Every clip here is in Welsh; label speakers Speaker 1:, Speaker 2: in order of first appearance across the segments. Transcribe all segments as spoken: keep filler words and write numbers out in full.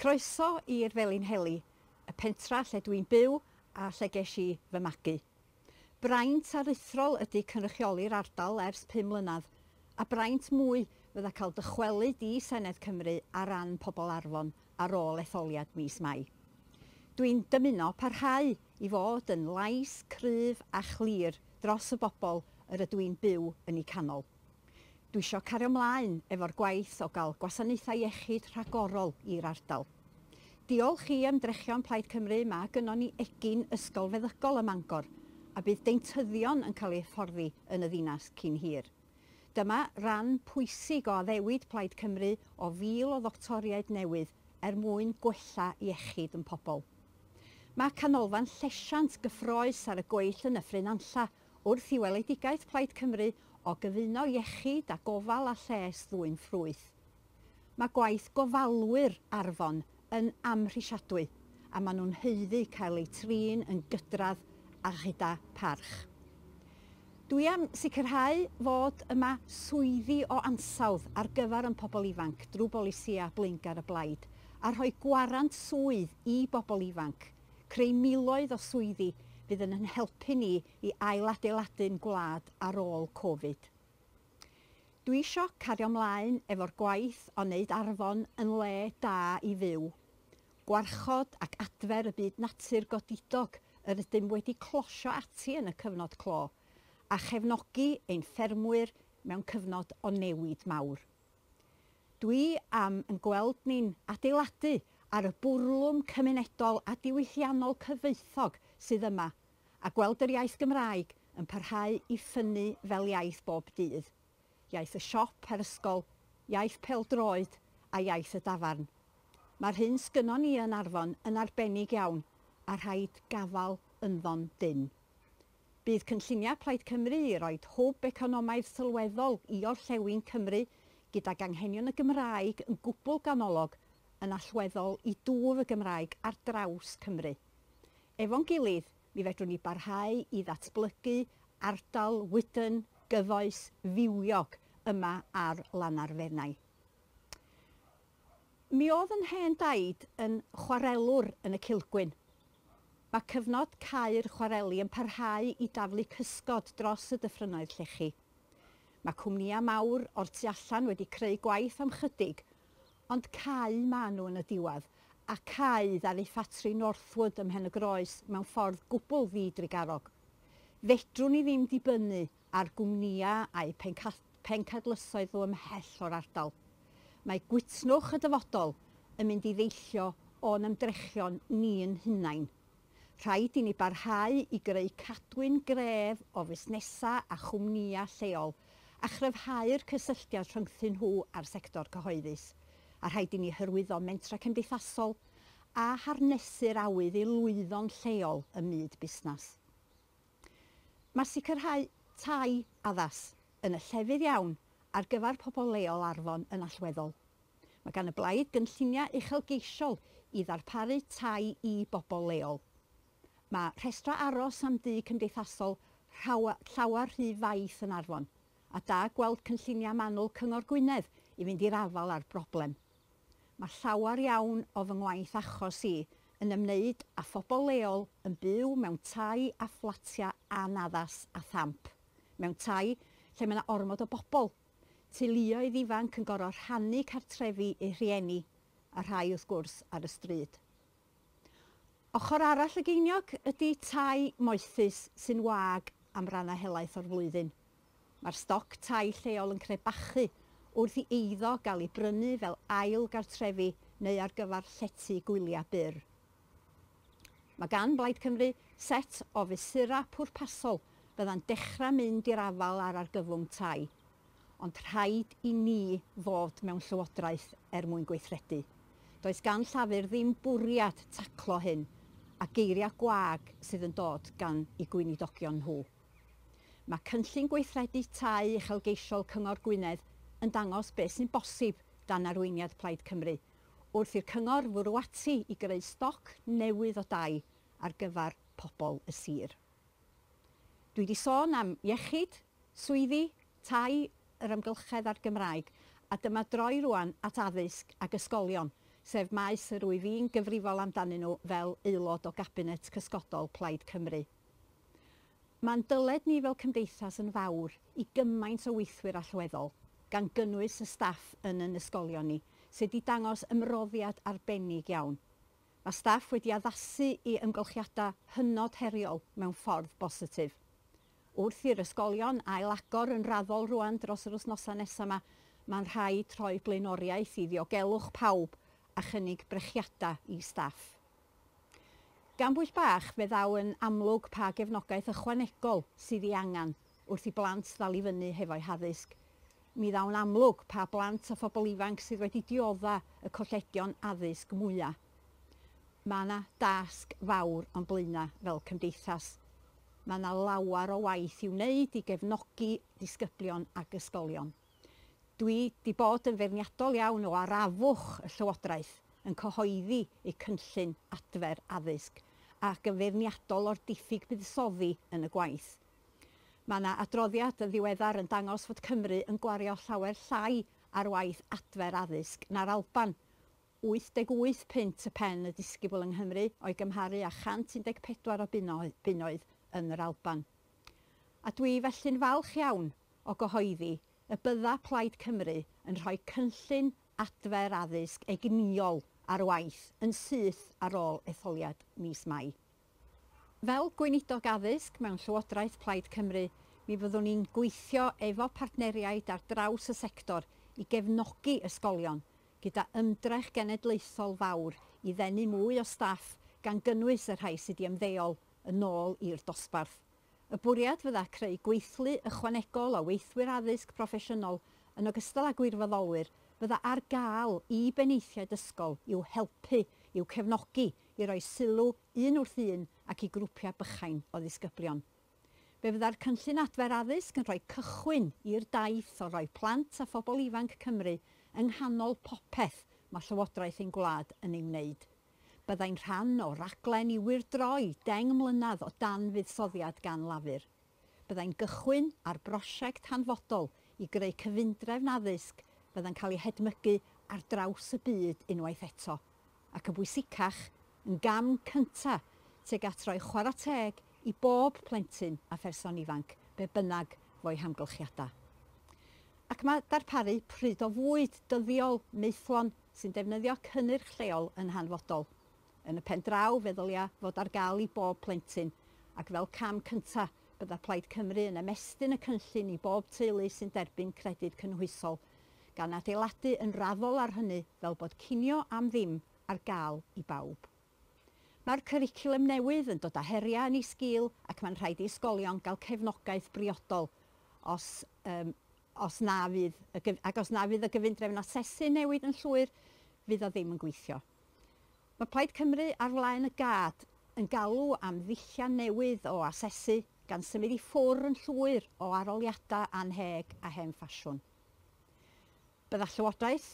Speaker 1: Croeso i'r Felinheli, y pentra lle dwi'n byw a lle ges i fy magu. Braint aruthrol ydy cynrychioli'r ardal ers pum mlynedd, a braint mwy fydda cael dychwelyd i Senedd Cymru ar ran pobl Arfon ar ôl etholiad mis Mai. Dwi'n dymuno parhau i fod yn lais cryf a chlir dros y bobl yr ydw i'n byw yn eu canol. Dwi isio cario ymlaen efo'r gwaith o gael gwasanaethau iechyd rhagorol i'r ardal. Diolch i ymdrechion Plaid Cymru, mae gynnon ni egin ysgol feddygol ym Mangor, a bydd deintyddion yn cael eu hyfforddi yn y ddinas cyn hir. Dyma ran pwysig o addewid Plaid Cymru o fil o ddoctoriaid newydd er mwyn gwella iechyd yn pobl. Mae canolfan llesiant gyffrous ar y gweill yn Nyffryn Nantlle wrth i weledigaeth Plaid Cymru o gyfuno iechyd a gofal a lles ddwyn ffrwyth. Mae gwaith gofalwyr Arfon yn amhrisiadwy a maen nhw'n haeddu cael eu trin yn gydradd a chyda parch. Dwi am sicrhau fod yma swyddi o ansawdd ar gyfer yn pobl ifanc drwy bolisïau blaengar y blaid a rhoi gwarant swydd i bobl ifanc, creu miloedd o swyddi fydd yn helpu ni i ailadeiladu'n gwlad ar ôl Covid. Dwi isio cario ymlaen efo'r gwaith o wneud Arfon yn le da i fyw. Gwarchod ac adfer y byd natur godidog yr ydym wedi closio ati yn y cyfnod clo, a chefnogi ein ffermwyr mewn cyfnod o newid mawr. Dwi am yn gweld ni'n adeiladu ar y bwrlwm cymunedol a diwylliannol cyfoethog sydd yma, a gweld yr iaith Gymraeg yn parhau i ffynnu fel iaith bob dydd. Iaith y siop a'r ysgol, iaith pêl-droed a iaith y dafarn. Mae'r hyn sgynnon ni yn Arfon yn arbennig iawn a rhaid gafael ynddo'n dynn. Bydd cynlluniau Plaid Cymru i roi hwb economaidd sylweddol i orllewin Cymru gydag anghenion y Gymraeg yn gwbl ganolog yn allweddol i dwf y Gymraeg ar draws Cymru. Efo'n gilydd, mi fedrwn ni barhau i ddatblygu ardal wydn, gyfoes, fywiog yma ar Lannau'r Fenai. Mi oedd yn hen daid yn chwarelwr yn y Cilgwyn. Mae cyfnod cau'r chwareli yn parhau i daflu cysgod dros y dyffrynnoedd llechi. Mae cwmnïau mawr o'r tu allan wedi creu gwaith am chydig, ond cau maen nhw yn y diwedd, a cau ddaru ffatri Northwood ym Mhen-y-groes mewn ffordd gwbl ddidrugarog. Fedrwn ni ddim dibynnu ar gwmnïau a'u pencadlysoedd nhw ymhell o'r ardal. Mae gwytnwch y dyfodol yn mynd i ddeillio o'n ymdrechion ni'n hunain. Rhaid i ni barhau i greu cadwyn gref o fusnesau a chwmnïau lleol a chryfhau'r cysylltiad rhyngthyn nhw a'r sector cyhoeddus. A rhaid i ni hyrwyddo mentra cymdeithasol a harnesu'r awydd i lwyddo'n lleol ym myd busnes. Mae sicrhau tai addas yn y llefydd iawn ar gyfer pobl leol Arfon yn allweddol. Mae gan y blaid gynlluniau uchelgeisiol i ddarparu tai i bobl leol. Mae rhestrau aros am dŷ cymdeithasol llawer rhy faith yn Arfon, a da gweld cynlluniau manwl Cyngor Gwynedd i fynd i'r afael â'r broblem. Mae llawer iawn o fy ngwaith achos i yn ymwneud â phobl leol yn byw mewn tai a fflatiau anaddas a thamp. Mewn tai lle mae yna ormod o bobl, teuluoedd ifanc yn gorfod rhannu cartrefi eu rhieni, a rhai wrth gwrs ar y stryd. Ochr arall y geiniog ydy tai moethus sy'n wag am rannau helaeth o'r flwyddyn. Mae'r stoc tai lleol yn crebachu wrth i eiddo gael ei brynu fel ail gartrefi neu ar gyfer llety gwyliau byr. Mae gan Blaid Cymru set o fesurau pwrpasol fydda'n dechrau mynd i'r afael ar argyfwng tai, ond rhaid i ni fod mewn llywodraeth er mwyn gweithredu. Does gan Llafur ddim bwriad taclo hyn, a geiriau gwag sydd yn dod gan eu gweinidogion nhw. Mae cynllun gweithredu tai uchelgeisiol Cyngor Gwynedd yn dangos beth sy'n bosib dan arweiniad Plaid Cymru, wrth i'r cyngor fwrw ati i greu stoc newydd o dai ar gyfer pobl y sir. Dwi wedi sôn am iechyd, swyddi, tai, yr amgylchedd a'r Gymraeg, a dyma droi rwan at addysg ac ysgolion, sef maes yr wyf i'n gyfrifol amdanyn nhw fel aelod o Gabinet Cysgodol Plaid Cymru. Mae'n dyled ni fel cymdeithas yn fawr i gymaint o weithwyr allweddol, gan gynnwys y staff yn yn ysgolion ni, sydd wedi dangos ymroddiad arbennig iawn. Mae staff wedi addasu i ymgylchiadau hynod heriol mewn ffordd bositif. Wrth i'r ysgolion ail-agor yn raddol rwan dros yr wythnosau nesaf yma, mae'n rhaid rhoi blaenoriaeth i ddiogelwch pawb a chynnig brechiadau i staff. Gan bwyll bach, fe ddaw yn amlwg pa gefnogaeth ychwanegol sydd ei angen wrth i blant ddal i fyny hefo'u haddysg. Mi ddaw'n amlwg pa blant a phobl ifanc sydd wedi diodda y colledion addysg mwyaf. Mae yna dasg fawr o'n blaenau fel cymdeithas. Mae yna lawer o waith i'w wneud i gefnogi disgyblion ac ysgolion. Dwi wedi bod yn feirniadol iawn o arafwch y Llywodraeth yn cyhoeddi eu cynllun adfer addysg ac yn feirniadol o'r diffyg buddsoddi yn y gwaith. Mae yna adroddiad yn ddiweddar yn dangos fod Cymru yn gwario llawer llai ar waith adfer addysg na'r Alban. wyth deg wyth punt y pen y disgybl yng Nghymru o'i gymharu â chant un deg pedwar o bunnoedd yn yr Alban. A dwi felly'n falch iawn o gyhoeddi y bydda Plaid Cymru yn rhoi cynllun adfer addysg egnïol ar waith yn syth ar ôl etholiad mis Mai. Fel gweinidog addysg mewn Llywodraeth Plaid Cymru, mi fyddwn ni'n gweithio efo partneriaid ar draws y sector i gefnogi ysgolion gyda ymdrech genedlaethol fawr i ddenu mwy o staff gan gynnwys y rhai sydd wedi ymddeol yn ôl i'r dosbarth. Y bwriad fydda creu gweithlu ychwanegol o weithwyr addysg proffesiynol yn ogystal â gwirfoddolwyr fydda ar gael i benaethiaid ysgol i'w helpu, i'w cefnogi, i roi sylw un wrth un ac i grwpiau bychain o ddisgyblion. Fe fydda'r cynllun adfer addysg yn rhoi cychwyn i'r daith o roi plant a phobl ifanc Cymru yng nghanol popeth mae Llywodraeth ein gwlad yn ei wneud. Byddai'n rhan o raglen i wyrdroi deng mlynedd o dan fuddsoddiad gan Lafur. Byddai'n gychwyn ar brosiect hanfodol i greu cyfundrefn addysg byddai'n cael ei hedmygu ar draws y byd unwaith eto, ac yn bwysicach, yn gam cyntaf tuag at roi chwarae teg i bob plentyn a pherson ifanc, be bynnag fo'i hamgylchiadau. Ac mae darparu pryd o fwyd dyddiol maethlon sy'n defnyddio cynnyrch lleol yn hanfodol. Yn y pen draw, fe ddylia fod ar gael i bob plentyn, ac fel cam cyntaf, bydda Plaid Cymru yn ymestyn y cynllun i bob teulu sy'n derbyn credyd cynhwysol, gan adeiladu yn raddol ar hynny fel bod cinio am ddim ar gael i bawb. Mae'r cwricwlwm newydd yn dod â heriau yn ei sgil ac mae'n rhaid i ysgolion gael cefnogaeth briodol os, um, os na fydd, ac os na fydd y gyfundrefn asesu newid yn llwyr, fydd o ddim yn gweithio. Mae Plaid Cymru ar flaen y gad yn galw am ddulliau newydd o asesu gan symud i ffwrdd yn llwyr o arholiadau anheg a hen ffasiwn. Bydda Llywodraeth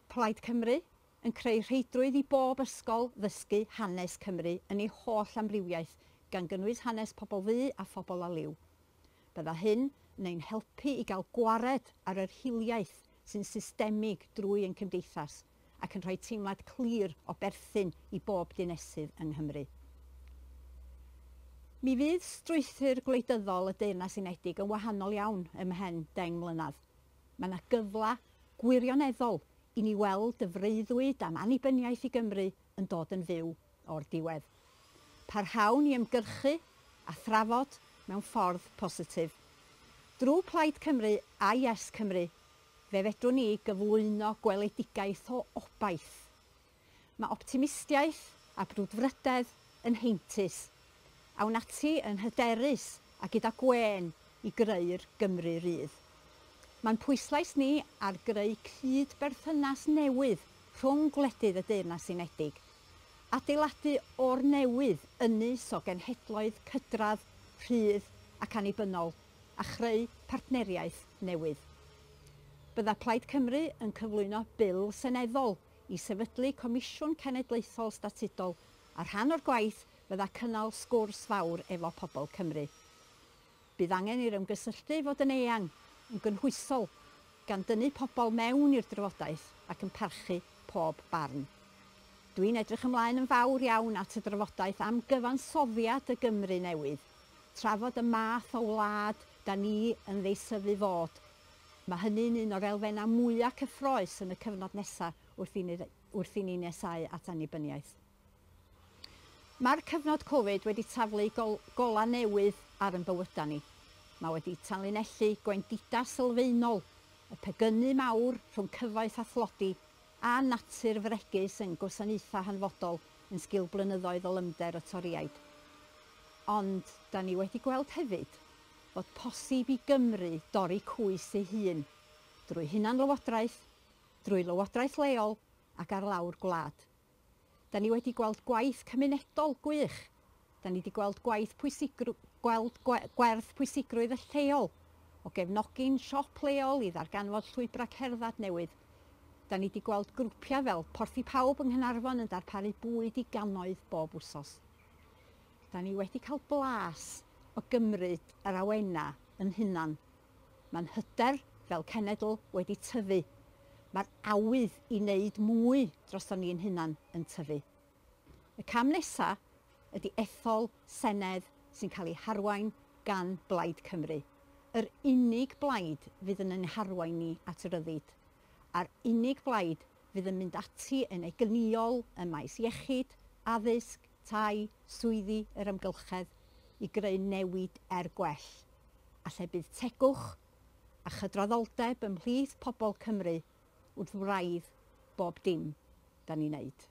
Speaker 1: Plaid Cymru yn creu rheidrwydd i bob ysgol ddysgu hanes Cymru yn ei holl amrywiaeth, gan gynnwys hanes pobl ddu a phobl a liw. Bydda hyn yn ein helpu i gael gwared ar yr hiliaeth sy'n systemig drwy ein cymdeithas ac yn rhoi teimlad clir o berthyn i bob dinesydd yng Nghymru. Mi fydd strwythur gwleidyddol y Deyrnas Unedig yn wahanol iawn ym mhen deng mlynedd. Mae yna gyfle gwirioneddol i ni weld y freuddwyd am annibyniaeth i Gymru yn dod yn fyw o'r diwedd. Parhawn i ymgyrchu a thrafod mewn ffordd positif. Drwy Plaid Cymru a Yes Cymru, fe fedrwn ni gyflwyno gweledigaeth o obaith. Mae optimistiaeth a brwdfrydedd yn heintus. Awn ati yn hyderus a gyda gwên i greu'r Gymru rydd. Mae'n pwyslais ni ar greu cydberthynas newydd rhwng gwledydd y Deyrnas Unedig. Adeiladu o'r newydd ynys o genhedloedd cydradd, rhydd ac annibynnol, a chreu partneriaeth newydd. Bydda Plaid Cymru yn cyflwyno bil seneddol i sefydlu Comisiwn Cenedlaethol Statudol, a rhan o'r gwaith fydda cynnal sgwrs fawr efo pobl Cymru. Bydd angen i'r ymgysylltu fod yn eang, yn gynhwysol gan dynnu pobl mewn i'r drafodaeth ac yn parchu pob barn. Dwi'n edrych ymlaen yn fawr iawn at y drafodaeth am gyfansoddiad y Gymru newydd, trafod y math o wlad da ni yn ddeisyfu fod. Mae hynny'n un o'r elfennau mwyaf cyffrous yn y cyfnod nesaf wrth i ni, wrth i ni nesáu at annibyniaeth. Mae'r cyfnod Covid wedi taflu gol, gola newydd ar ein bywydau ni. Mae wedi tanlinellu gwendidau sylfaenol, y pegynu mawr rhwng cyfoeth a thlodi a natur fregus yn gwasanaethau hanfodol yn sgil blynyddoedd o lymder y Torïaid. Ond da ni wedi gweld hefyd fod posib i Gymru dorri cwys ei hun drwy hunanlywodraeth, drwy lywodraeth leol ac ar lawr gwlad. Da ni wedi gweld gwaith cymunedol gwych. Da ni wedi gweld gwaith pwysigrw, gweld gwerth pwysigrwydd y lleol, o gefnogi'n siop leol i ddarganfod llwybrau cerdded newydd. Da ni wedi gweld grwpiau fel Porthi Pawb yng Nghaernarfon yn darparu bwyd i gannoedd bob wsos. Da ni wedi cael blas o gymryd yr awena yn hunan. Mae'n hyder fel cenedl wedi tyfu. Mae'r awydd i wneud mwy droson ni'n hunan yn tyfu. Y cam nesaf ydy ethol Senedd sy'n cael ei harwain gan Blaid Cymru. Yr unig blaid fydd yn ein harwain ni at ryddid. A'r unig blaid fydd yn mynd ati yn egnïol ym maes iechyd, addysg, tai, swyddi, yr amgylchedd i greu newid er gwell. A lle bydd tegwch a chydraddoldeb ymhlith pobl Cymru wrth wraidd bob dim da ni'n neud.